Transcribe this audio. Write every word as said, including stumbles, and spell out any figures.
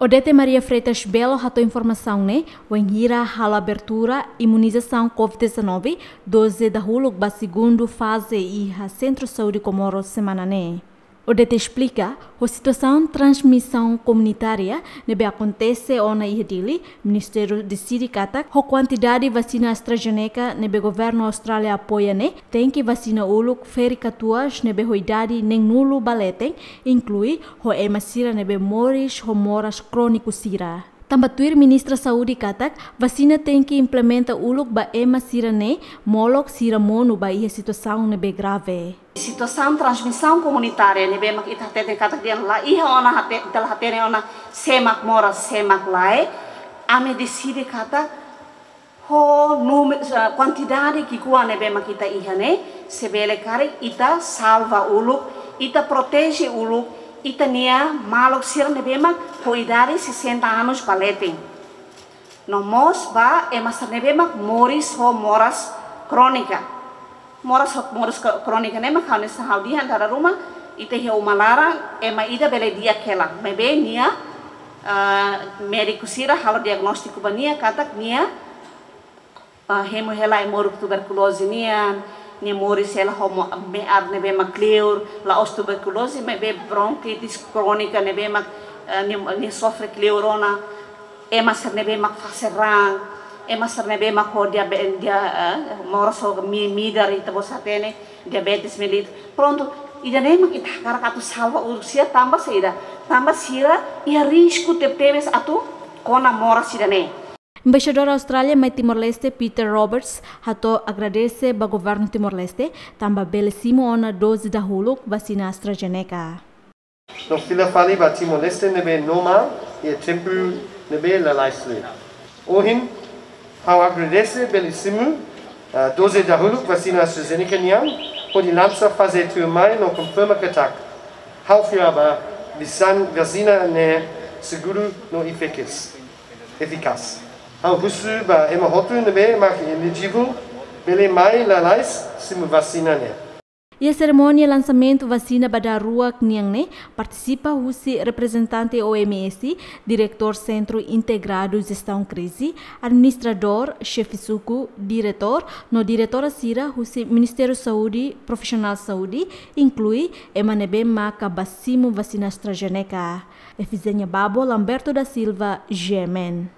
Odete Maria Freitas Belo hato'o informasaun ne'e wainhira halo abertura imunizasaun COVID dezanove doze dahuluk ba segundu faze iha Sentru Saúde Comoro semana ne'e. Odete esplika, ho situasaun transmisaun komunitária ne'ebé akontese ona iha Dili, Ministériu deside katak ho kuantidade vasina AstraZeneca ne'ebé governu Austrália apoia ne'e, tenke vasina uluk ferik-katuas ne'ebé ho idade neenulu ba leten, inklui ho ema sira ne'ebé moris ho moras króniku sira. Tanba tuir Ministra Saúde katak, vasina tenke implementa uluk ba ema sira ne'e, molok sira monu ba iha situasaun ne'ebé grave. Situasaun transmisaun komunitária ne'ebé mak ita hateten katak dehan la iha ona hate-, ita la hatene ona sé mak moras, sé mak lae, ami deside katak ho núme-, eh, kuantidade ki'ikoan ne'ebé mak ita iha ne'e, se bele karik ita salva uluk, ita proteje uluk, ita-nia maluk sira ne'ebé mak ho idade sessenta anos ba leten. No mós ba ema sira ne'ebé mak moris ho moras krónika. Moras ho moras kro-, krónika ne'e mak ha'u-nia sahau dihan dala ruma, ita iha uma laran, ema ida bele di'ak hela. Maibé nia, ah, médiku sira halo diagnóstiku ba nia, katak nia, ah, hemu hela ai-moruk tuberkuloze nian, nia moris hela ho mo-, me'ar ne'ebé mak kleur, la'ós tuberkuloze, maibé bronkitis krónika ne'ebé mak, eh, nia, nia sofre kleur ona, ema sira ne'ebé mak fase raan, ema sira ne'ebé mak ho diabe-, dia-, eh, moras ho mi-, midar ita-boot hatene, diabetes mellitus. Prontu, ida-ne'e mak ita hakarak atu salva uluk sira tanba saida, tanba sira iha risku tebetebes atu kona moras ida-ne'e. Embaixadór Austrália mai Timor-Leste Peter Roberts hato'o agradese ba governu Timor-Leste, tanba bele simu ona doze dahuluk vasina AstraZeneca. No fila fali ba Timor-Leste ne'ebé no mal iha tempu ne'ebé lalais liu. Ohin, ha'u agradese bele simu, ah, doze dahuluk vasina AstraZeneca nian, hodi lansa faze tuirmai no konfirma katak ha'u fiar ba visan-, vasina ne'e seguru no efikás. Efikás. Ha'u husu ba ema hotu ne'ebé mak elijivel bele mai lalais simu vasina ne'e. Iha serimónia lansamentu vasina ba daruak nian ne'e, partisipa husi reprezentante O M S, diretór Sentru Integradu Jestaun Krize, administradór, xefe suku, diretór, no diretora sira husi Ministériu Saúde, profisionál saúde, inklui ema ne'ebé maka ba simu vasina AstraZeneca. Efizénia Babo, Lamberto da Silva, G M N.